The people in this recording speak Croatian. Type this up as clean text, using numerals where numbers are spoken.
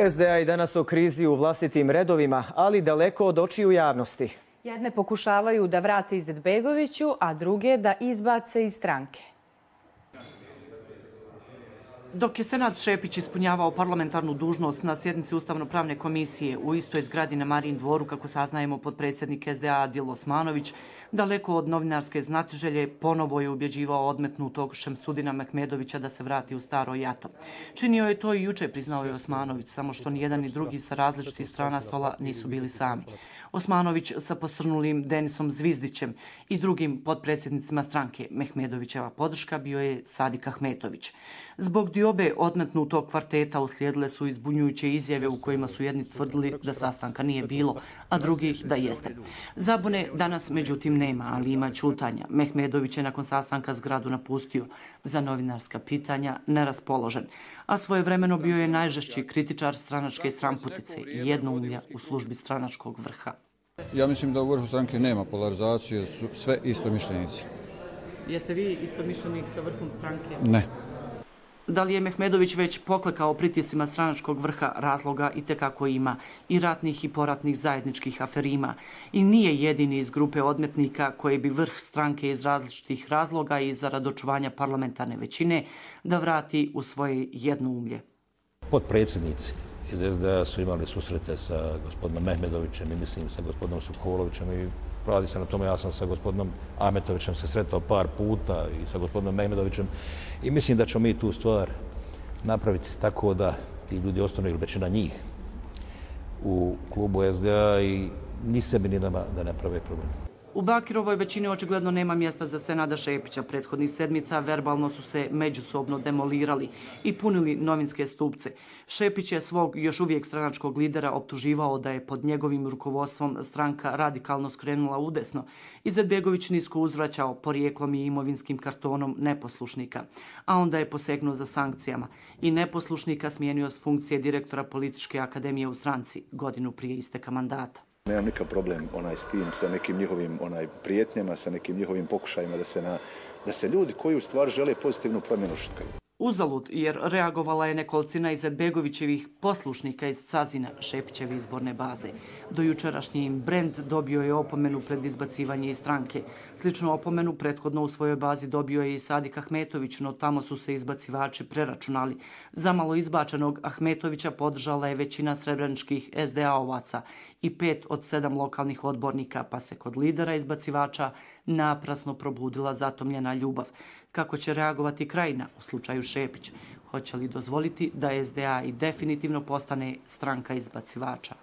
SDA i danas o krizi u vlastitim redovima, ali daleko od očiju javnosti. Jedne pokušavaju da vrate Izetbegoviću, a druge da izbace iz stranke. Dok je Senad Šepić ispunjavao parlamentarnu dužnost na sjednici Ustavno-pravne komisije u istoj zgradi na Marijin dvoru, kako saznajemo, potpredsjednik SDA Adil Osmanović, daleko od novinarske znatiželje, ponovo je ubjeđivao odmetnutog Šemsudina Mehmedovića da se vrati u staro jato. Činio je to i juče, priznao je Osmanović, samo što ni jedan ni drugi sa različitih strana stola nisu bili sami. Osmanović sa posrnulim Denisom Zvizdićem i drugim potpredsjednicima stranke. Mehmedovićeva podrška bio je Sadik Ahmetović. Zbog diobe odmetnutog kvarteta uslijedile su izbunjujuće izjave u kojima su jedni tvrdili da sastanka nije bilo, a drugi da jeste. Zabune danas međutim nema, ali ima ćutanja. Mehmedović je nakon sastanka zgradu napustio, za novinarska pitanja neraspoložen, a svojevremeno bio je najžešći kritičar stranačke stramputice i jednoumlja u službi stranačkog vrha. Ja mislim da u vrhu stranke nema polarizacije, su sve istomišljenici. Jeste vi istomišljenik sa vrhom stranke? Ne. Da li je Mehmedović već poklekao pritiscima stranačkog vrha? Razloga itekako ima, i ratnih i poratnih zajedničkih aferima. I nije jedini iz grupe odmetnika koje bi vrh stranke iz različitih razloga i zarad očuvanja parlamentarne većine da vrati u svoje jednoumlje. Potpredsjednici iz SDA su imali susrete sa gospodinom Mehmedovićem i mislim sa gospodinom Sokolovićem i radi se na tome. Ja sam sa gospodinom Ahmetovićem se sretao par puta i sa gospodinom Mehmedovićem i mislim da ćemo mi tu stvar napraviti tako da ti ljudi ostanu, ili većina njih, u klubu SDA i ni sebi ni nama da ne prave problem. U Bakirovoj većini očigledno nema mjesta za Senada Šepića. Prethodnih sedmica verbalno su se međusobno demolirali i punili novinske stupce. Šepić je svog još uvijek stranačkog lidera optuživao da je pod njegovim rukovodstvom stranka radikalno skrenula udesno. Izetbegović nisko uzvraćao porijeklom i imovinskim kartonom neposlušnika, a onda je posegnuo za sankcijama i neposlušnika smijenio s funkcije direktora političke akademije u stranci godinu prije isteka mandata. Nemam nikakav problem s tim, sa nekim njihovim prijetnjama, sa nekim njihovim pokušajima da se ljudi koji u stvari žele pozitivnu promjenu šutkaju. Uzalud, jer reagovala je nekolicina Izetbegovićevih poslušnika iz Cazina, Šepićeve izborne baze. Do jučerašnji im brend dobio je opomenu pred izbacivanje iz stranke. Sličnu opomenu prethodno u svojoj bazi dobio je i Sadik Ahmetović, no tamo su se izbacivači preračunali. Zamalo izbačenog Ahmetovića podržala je većina srebreničkih SDA-ovaca i 5 od 7 lokalnih odbornika, pa se kod lidera izbacivača naprasno probudila zatomljena ljubav. Kako će reagovati Krajina u slučaju Šepić? Hoće li dozvoliti da SDA i definitivno postane stranka izbacivača?